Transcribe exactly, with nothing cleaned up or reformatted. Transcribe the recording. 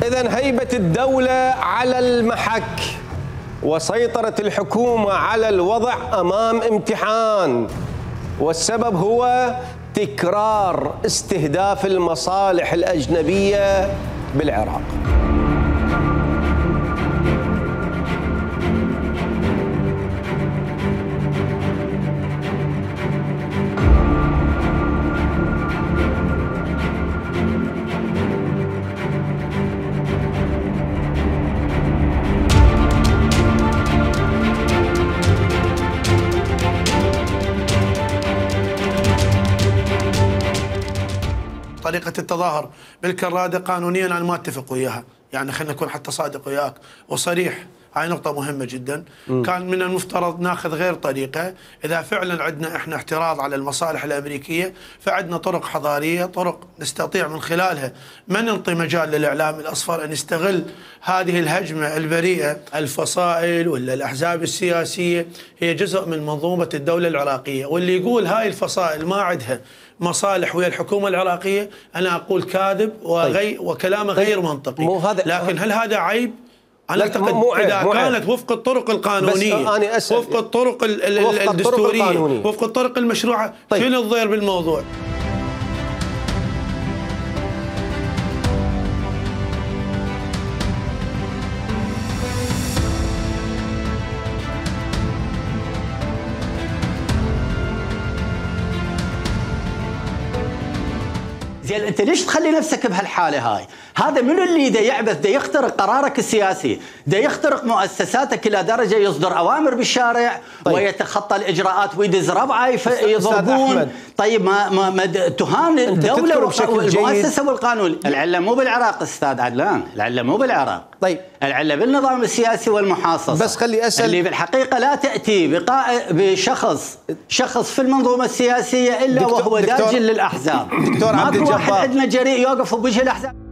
إذن هيبة الدولة على المحك وسيطرة الحكومة على الوضع أمام امتحان، والسبب هو تكرار استهداف المصالح الأجنبية بالعراق. طريقة التظاهر بالكرادة قانونيا أنا ما أتفق وياها، يعني خلينا نكون حتى صادق وياك وصريح، هاي نقطة مهمة جدا. م. كان من المفترض ناخذ غير طريقة. إذا فعلا عندنا إحنا احتراض على المصالح الأمريكية فعندنا طرق حضارية، طرق نستطيع من خلالها ما ننطي مجال للإعلام الأصفر أن يستغل هذه الهجمة البريئة. الفصائل ولا الأحزاب السياسية هي جزء من منظومة الدولة العراقية، واللي يقول هاي الفصائل ما عندها مصالح ويا الحكومة العراقية أنا أقول كاذب وغي وكلامه غير منطقي. لكن هل هذا عيب؟ أنا أعتقد إذا كانت وفق الطرق القانونية، وفق الطرق الدستورية، وفق الطرق المشروعة، طيب. شنو الضير بالموضوع؟ زين انت ليش تخلي نفسك بهالحاله هاي؟ هذا منو اللي دا يعبث، دا يخترق قرارك السياسي، دا يخترق مؤسساتك الى درجه يصدر اوامر بالشارع، طيب. ويتخطى الاجراءات ويدز ربعه يضربون. طيب ما ما, ما تهان الدوله والمؤسسه والقانون. العله مو بالعراق استاذ عدلان، العله مو بالعراق، طيب العله بالنظام السياسي والمحاصصه. بس خلي اسال اللي بالحقيقه لا تاتي بقاء بشخص شخص في المنظومه السياسيه الا دكتور وهو داجن للاحزاب. دكتور عبد الجبار، واحد عندنا جريء يوقف بوجه الاحزاب.